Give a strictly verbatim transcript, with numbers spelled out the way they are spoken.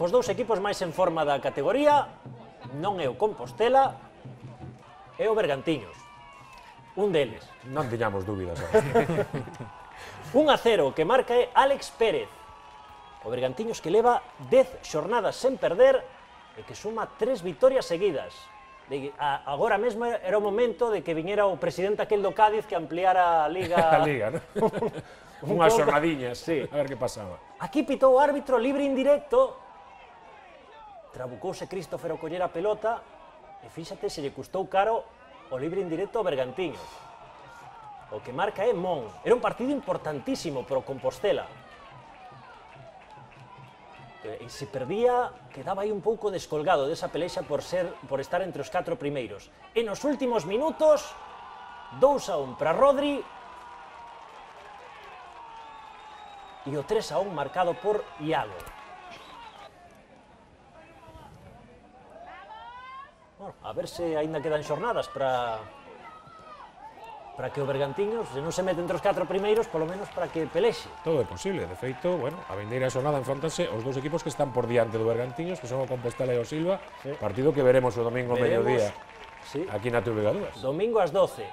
Os dous equipos máis en forma da categoría non é o Compostela, é o Bergantiños. Un deles. Non tiñamos dúbidas. un a cero, que marca é Álex Pérez. O Bergantiños que leva dez xornadas sen perder e que suma tres vitorias seguidas. De, a, agora mesmo era o momento de que viñera o presidente aquel do Cádiz que ampliara a Liga... a Liga, non? Unhas xornadiñas, sí, a ver que pasaba. Aquí pitou o árbitro libre indirecto. Trabucouse Christopher o coller a pelota e fíxate se lle custou caro o libre indirecto ao Bergantiños. O que marca é Mon. Era un partido importantísimo pro Compostela. E se perdía, quedaba aí un pouco descolgado desa pelexa por ser por estar entre os catro primeiros. E nos últimos minutos, dous a un para Rodri e o tres a un marcado por Iago. Bueno, a ver se aínda quedan xornadas para para que o Bergantiños, se non se mete entre os catro primeiros, polo menos para que pelexe. Todo é posible, de feito, bueno, a vindeira xornada enfrontanse os dous equipos que están por diante do Bergantiños, que son o Compostela e o Silva, sí. Partido que veremos o domingo ao mediodía, sí. aquí na T V dúas. Domingo ás doce.